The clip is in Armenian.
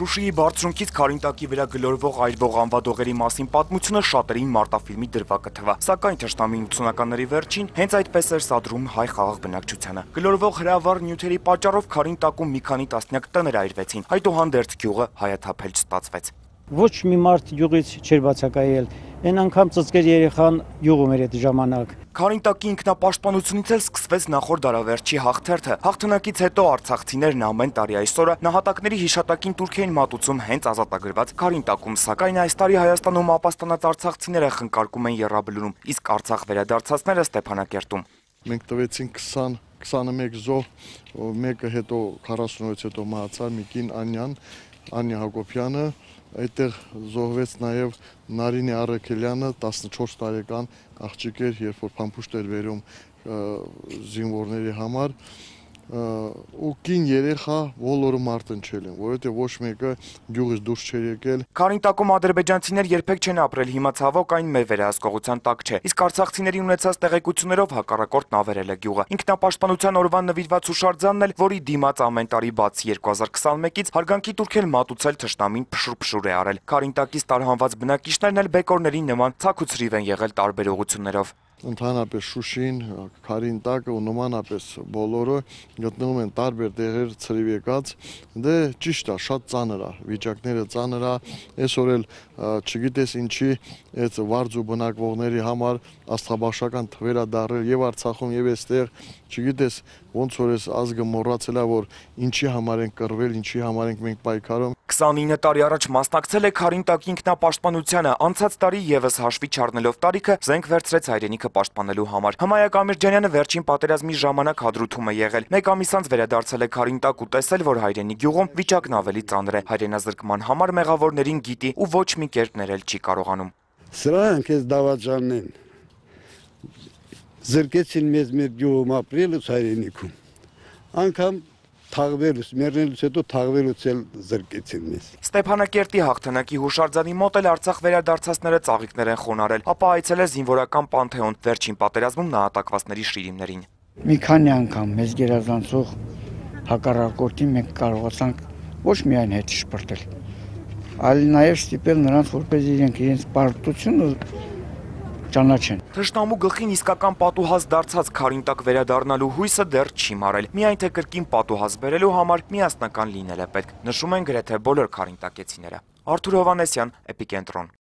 Շուշիի բարձունքից Քարինտակի վրա գլորվող այրվող անվադողերի մասին պատմությունը շատերին մարտաֆիլմի դրվագը թվա, սակայն թշնամին 80-ականների վերջին հենց այդպես էր սադրում հայ խաղաղ բնակչությանը։ Գլորվող հրավառ նյութերի պատճառով Քարինտակում մի քանի տասնյակ տներ այրվեցին, այդուհանդերձ գյուղը հայաթափել չստացվեց։ Ոչ մի մարդ յուղից չէր բացակայել, այն անգամ ծծկեր երեխան յուղում էր այդ ժամանակ։ Քարինտակի ինքնապաշտպանությունից էլ սկսվեց նախորդ դարավերջի հաղթերթը։ Հաղթանակից հետո արցախցիներն ամեն տարի այսօրը նահատակների հիշատակին տուրք էին մատուցում հենց ազատագրված Քարինտակում, սակայն այս տարի Հայաստանում ապաստանած արցախցիները խնկարկում են Եռաբլուրում, իսկ Արցախ վերադարձածները Ստեփանակերտում։ Մենք տվեցինք 21 զոհ, մեկը հետո 46 հետո մահացավ մի կին Անյա Հակոբյանը, այդտեղ զոհվեց նաև Նարինե Արաքելյանը, 14 տարեկան աղջիկ էր, երբ որ փամփուշտ էր բերում զինվորների համար, ու կին երեխա բոլորը մարտնչել են, որովհետև ոչ մեկը գյուղից դուրս չէր եկել։ Քարինտակում ադրբեջանցիներ երբեք չեն ապրել, հիմա ցավոք այն մեր վերահսկողության տակ չէ, իսկ արցախցիների ունեցած տեղեկություններով հակառակորդն ավերել է գյուղը։ Ինքնապաշտպանության օրվան նվիրված հուշարձանն էլ, որի դիմաց ամեն տարի բացի 2021-ից հարգանքի տուրք էլ մատուցել թշնամին փշուր է արել։ Քարինտակից տարհանված բնակիչներն էլ բեկորների նման ցաքուցրիվ են եղել տարբեր ուղղություններով։ Ընդհանրապես Շուշին, Քարինտակը ու նմանապես բոլորը գտնվում են տարբեր տեղեր ցրիվ եկած, դե ճիշտ է, շատ ծանր է, վիճակները ծանր է, այսօր էլ չգիտես ինչի այդ վարձու բնակվողների համար աստղաբաշխական թվեր է դարել եւ Արցախում եւ այստեղ, չգիտես ոնց որ այս ազգը մոռացել է, որ ինչի համար են կռվել, ինչի համար ենք մենք պայքարում։ 29 տարի առաջ մասնակցել է Քարինտակի ինքնապաշտպանությանը, անցած տարի եւս հաշվի չառնելով տարիքը զենք վերցրեց հայրենիքը պաշտպանելու համար։ Հմայակ Ամիրջանյանը վերջին պատերազմի ժամանակ հադրութում է եղել։ Մեկ ամիս անց վերադարձել է Քարինտակ ու տեսել, որ հայրենի գյուղում վիճակն ավելի ծանր է։ Հայրենազրկման համար մեղավորներին գիտի ու ոչ մի կերպ ներել չի կարողանում։ Սրանք էս դավաճանն են։ Զրկեցին մեզ մեր գյուղում ապրելուց հայրենիքում։ Անկամ թաղվելուց, մեռնելուց հետո թաղվելուց էլ զրկեցին մեզ։ Ստեփանակերտի հաղթանակի հուշարձանի մոտ էլ Արցախ վերադարձածները ծաղիկներ են խոնարել, ապա այցել է զինվորական Պանթեոն, վերջին պատերազմում նահատակվածների շիրիմներին։ Մի քանի անգամ մեզ գերազանցող հակառակորդին մենք կարողացանք ոչ միայն հետ շպրտել, այլ նաև ստիպել նրանց, որպես իրենց պարտությունը ճանաչեն։ Թշնամու գլխին իսկական պատուհաս դարձած Քարինտակ վերադառնալու հույսը դեռ չի մարել, միայն թե կրկին պատուհաս բերելու համար միասնական լինել է պետք, նշում են գրեթե բոլոր քարինտակեցիները։ Արթուր Հովհաննեսյան, Էպիկենտրոն։